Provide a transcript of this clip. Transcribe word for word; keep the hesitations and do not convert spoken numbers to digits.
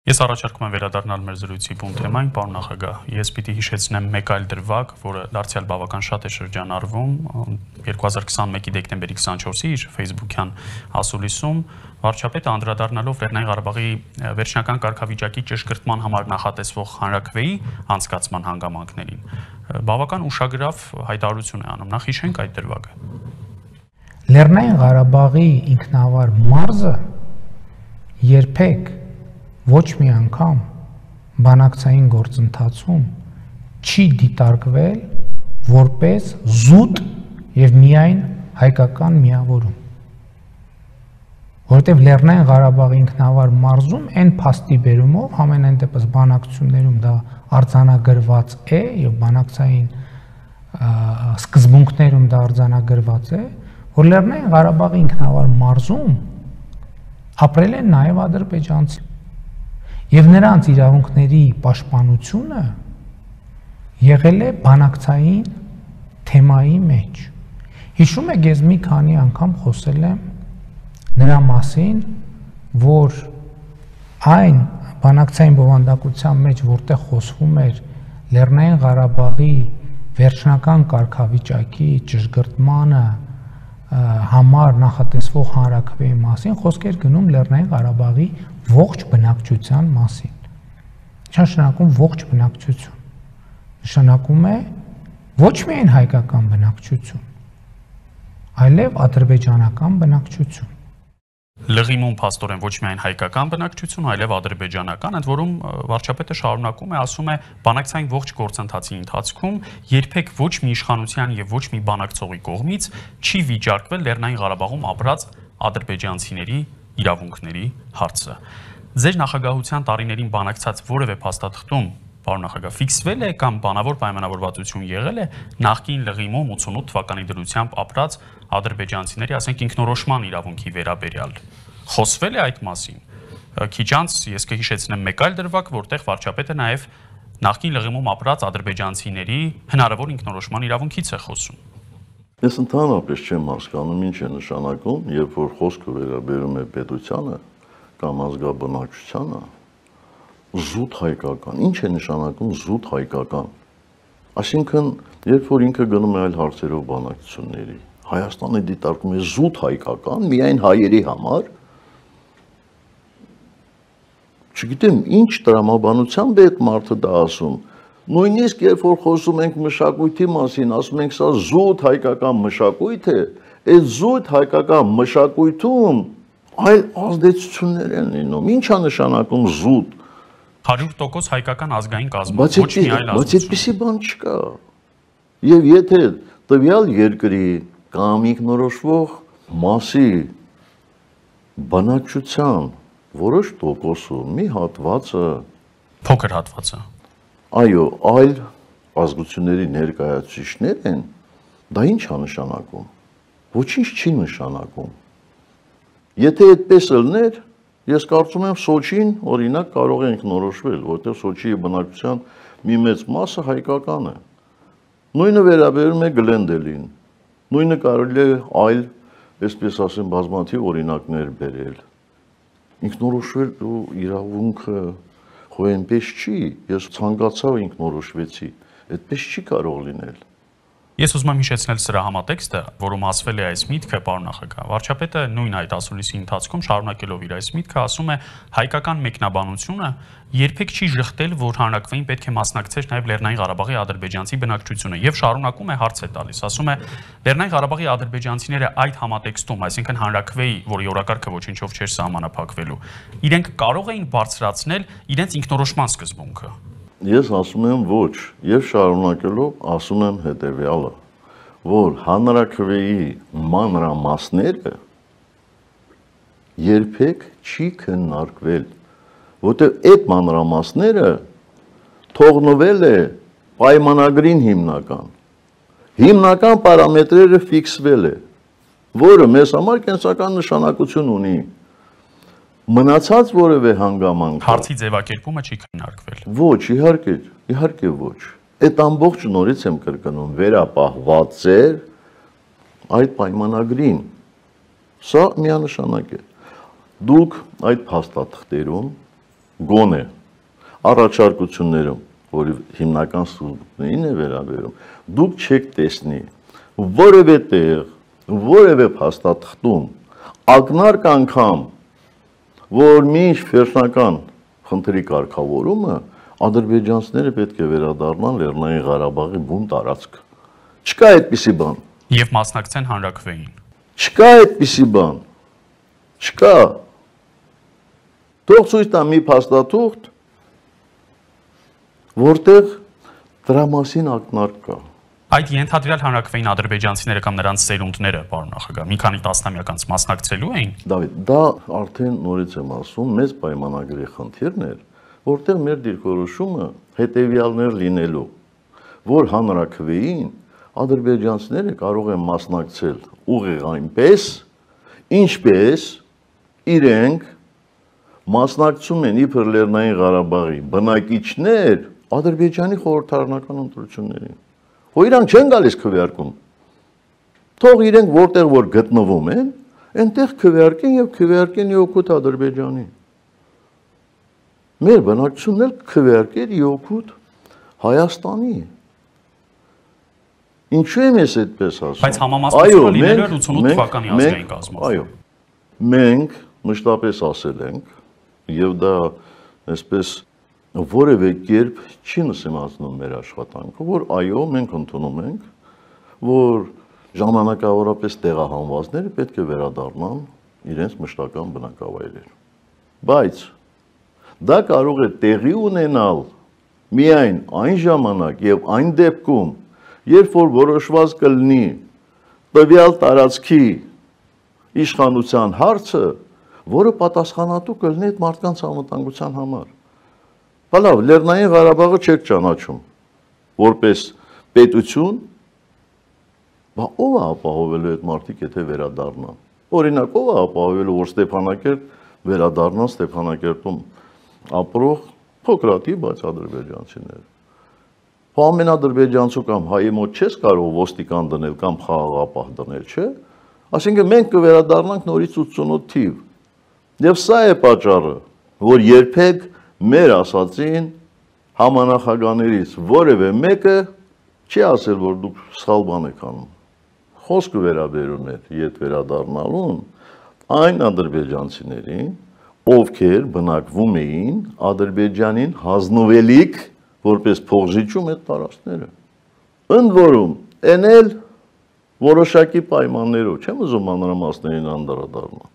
Ես առաջարկում եմ վերադառնալ մեր զրույցի բուն թեմային, պարոն նախագահ, ես պիտի հիշեցնեմ մեկ այլ դրվագ, որը դարձյալ բավական շատ է շրջանառվում երկու հազար քսաներկու դեկտեմբերի քսանչորսի իր Facebook-յան ասուլիսում, վարչապետը անդրադառնալով Լեռնային Ղարաբաղի վերջնական կարգավիճակի ճշգրտման համար նախատեսվող հանրաքվեի անցկացման հանգամանքներին, բավական ուշագրավ հայտարարություն է անում, նախ հիշենք այդ դրվագը։ Լեռնային Ղարաբաղի ինքնավար մարզը երբեք ոչ մի անգամ բանակցային գործընթացում չի դիտարկվել որպես զուտ եւ միայն հայկական միավորում, որովհետեւ Լեռնային Ղարաբաղի ինքնավար մարզում այն փաստի բերումով ամենայն դեպս բանակցություններում դա արձանագրված է եւ բանակցային սկզբունքներում դա արձանագրված է, որ Լեռնային Ղարաբաղի ինքնավար մարզում ապրել են նաեւ ադրբեջանցի եւ նրանց իրավունքների պաշտպանությունը եղել է բանակցային թեմայի մեջ։ Հիշում եք, ես մի քանի անգամ խոսել եմ նրա մասին, որ այն բանակցային բովանդակության մեջ, որտեղ խոսվում էր Լեռնային Ղարաբաղի վերջնական կարգավիճակի ճշգրտմանը համար նախատեսվող հանրաքվեի մասին, խոսք էր գնում Լեռնային Ղարաբաղի ողջ բնակչության մասին։ Ինչ նշանակում ողջ բնակչություն։ Նշանակում է ոչ միայն հայկական բնակչություն, այլև ադրբեջանական բնակչություն։ Լղիմում փաստորեն ոչ միայն հայկական բնակչություն, այլև ադրբեջանական, ընդ որում վարչապետը շարունակում է, ասում է, բանակցային ողջ գործընթացի ընթացքում երբեք ոչ մի իշխանության եւ ոչ մի բանակցողի կողմից չի վիճարկվել Լեռնային Ղարաբաղում ապրած ադրբեջանցիների իրավունքների հարցը։ Ձեր նախագահության տարիներին բանակցած որևէ փաստաթղթում, պարոն նախագահ, ֆիքսվել է կամ բանավոր պայմանավորվածություն եղել է նախկին Լղիմում ութանասուն թվականի դրությամբ ապրած ադրբեջանցիների, ասենք, ինքնորոշման իրավունքի վերաբերյալ։ Խոսվել է այդ մասին։ Քիչ անց ես կհիշեցնեմ մեկ այլ դրվագ, որտեղ վարչապետը նաև նախկին Լղիմում ապրած ադրբեջանցիների հնարավոր ինքնորոշման իրավունքից է խոսում։ Ես ընդհանրապես չեմ հասկանում ինչ է նշանակում, երբ որ խոսքը վերաբերում է պետությանը կամ ազգաբնակչությանը, զուտ հայկական։ Ինչ է նշանակում զուտ հայկական։ Այսինքն, երբ որ ինքը գնում է այլ հարցերով բանակցությունների, Հայաստանը դիտարկում է զուտ հայկական, միայն հայերի համար, չգիտեմ, ինչ տրամաբանությամբ է այդ մարդը դա ասում։ Նույնիսկ երբ որ խոսում ենք մշակույթի մասին, ասում ենք սա զուտ հայկական մշակույթ է, այդ զուտ հայկական մշակույթում այլ ազդեցություններ են լինում։ Ինչ է նշանակում զուտ։ հարյուր տոկոս հայկական ազգային կազմում, ոչ մի այլ ազգություն։ Բայց այդպիսի բան չկա։ Եվ եթե տվյալ երկրի կամ ինքնորոշվող մասի բնակչության որոշ տոկոսը, մի հատվածը, փոքր հատվածը, այո, այլ ազգությունների ներկայացուցիչներ են, դա ինչ է նշանակում։ Ոչինչ չի նշանակում։ Եթե այդպես ելներ, ես կարծում եմ Սոչին օրինակ կարող է ինքնորոշվել, որտեղ Սոչիի բնակչության մի մեծ մասը հայկական է։ Նույնը վերաբերում է Գլենդելին։ Նույնը կարելի է այլ, այսպես ասեմ, բազմաթիվ օրինակներ բերել։ Ինքնորոշվելու իրավունքը խո այնպես չի, ես ցանկացա ինքնորոշվեցի, այդպես չի կարող լինել։ Ես ուզում եմ հիշեցնել սրա համատեքստը, որում ասվել է այս միտքը, պարոն նախագահ, վարչապետը նույն այդ ասուլիսի ընթացքում շարունակելով իր այս միտքը ասում է հայկական մեկնաբանությունը երբեք չի ժխտել, որ հանրաքվեին պետք է մասնակցեր նաև Լեռնային Ղարաբաղի ադրբեջանցի բնակչությունը եւ շարունակում է հարց է տալիս, ասում է Լեռնային Ղարաբաղի ադրբեջանցիները այդ համատեքստում, այսինքն հանրաքվեի, որի օրակարգը ոչինչով չէր սահմանափակվելու, իրենք կարող էին բարձրացնել իրենց ինքնորոշման սկզբունքը։ Ես ասում եմ ոչ, եւ շարունակելով ասում եմ հետեւյալը, որ հանրաքվեի մանրամասները երբեք չի քննարկվել, որտեղ այդ մանրամասները թողնվել է պայմանագրին հիմնական։ Հիմնական պարամետրերը ֆիքսվել է, որը մեզ համար կենսական նշանակություն ունի։ Մնացած որևէ հանգամանք հարցի ձևակերպումը չի քննարկվել։ Ոչ, իհարկե, իհարկե ոչ։ Այդ ամբողջ նորից եմ կրկնում, վերապահված էր այդ պայմանագրին։ Սա միանշանակ է։ Դուք այդ փաստաթղթերում գոնե առաջարկություններում, որի հիմնական սուբյեկտներին է վերաբերում, դուք չեք տեսնի որևէ տեղ, որևէ փաստաթղթում ակնարկ անգամ, որ մինչ վերջնական խնդրի կարգավորումը ադրբեջանցիները պետք է վերադառնան Լեռնային Ղարաբաղի բուն տարածք։ Չկա այդպիսի բան։ Եվ մասնակցեն հանրաքվեին։ Չկա այդպիսի բան։ Չկա։ Թող ցույց տա մի փաստաթուղթ, որտեղ դրա մասին ակնարկ կա։ Այդ ենթադրյալ հանրաքվեին ադրբեջանցիները կամ նրանց սերունդները, պարոն նախագահ, մի քանի տասնամյակ անց մասնակցելու էին։ Դավիթ, դա արդեն նորից եմ ասում, մեծ պայմանագրի խնդիրն էր, որտեղ մեր դիրքորոշումը հետևյալներ լինելու, որ հանրաքվեին ադրբեջանցիները կարող են մասնակցել ուղիղ այնպես, ինչպես իրենք մասնակցում են իբր Լեռնային Ղարաբաղի բնակիչներ Ադրբեջանի խորհրդարանական ընտրություններին։ Հո իրանք չեն գալիս քվեարկում։ Թող իրենք որտեղ որ գտնվում են, այնտեղ քվեարկեն եւ քվեարկեն իօգուտ Ադրբեջանի։ Մեր բնակչությունն էլ քվեարկեր իօգուտ Հայաստանի։ Ինչու եմ ես այդպես ասում։ Բայց համամասնությունը լինելու է ութանոթ թվականի ազգային կազմով։ Այո։ Մենք մշտապես ասել ենք եւ դա այսպես որևէ կերպ չի նսեմացնում մեր աշխատանքը, որ այո, մենք ընդունում ենք, որ ժամանակավորապես տեղահանվածները պետք է վերադառնան իրենց մշտական բնակավայրեր։ Բայց դա կարող է տեղի ունենալ միայն այն ժամանակ եւ այն դեպքում, երբ որ որոշված կլինի տվյալ տարածքի իշխանության հարցը, որը պատասխանատու կլինի այդ մարդկանց անվտանգության համար։ Բալավ, Լեռնային Ղարաբաղը չեք ճանաչում որպես պետություն, բա ով է ապահովելու այդ մարդիկ, եթե վերադառնան։ Օրինակ, ով է ապահովելու, որ Ստեփանակերտ վերադառնան Ստեփանակերտում ապրող փոքրատի, բայց ադրբեջանցիներ։ Հո ամեն ադրբեջանցու կամ հայի մոտ չես կարող ոստիկան դնել կամ խաղաղապահ դնել, չէ՞։ Այսինքն մենք կվերադառնանք նորից ութանոթ թիվ։ Եվ սա է պատճառը, որ երբեք մեր ասացին համանախագաներից որևէ մեկը չի ասել, որ դուք սխալ բան եք անում։ Խոսքը վերաբերում էր ետ վերադառնալուն այն ադրբեջանցիներին, ովքեր բնակվում էին Ադրբեջանին հանձնվելիք որպես փողջիջում այդ տարածքները։ Ընդ որում, այն էլ որոշակի պայմաններով, չեմ ուզում մանրամասներին անդրադառնալ։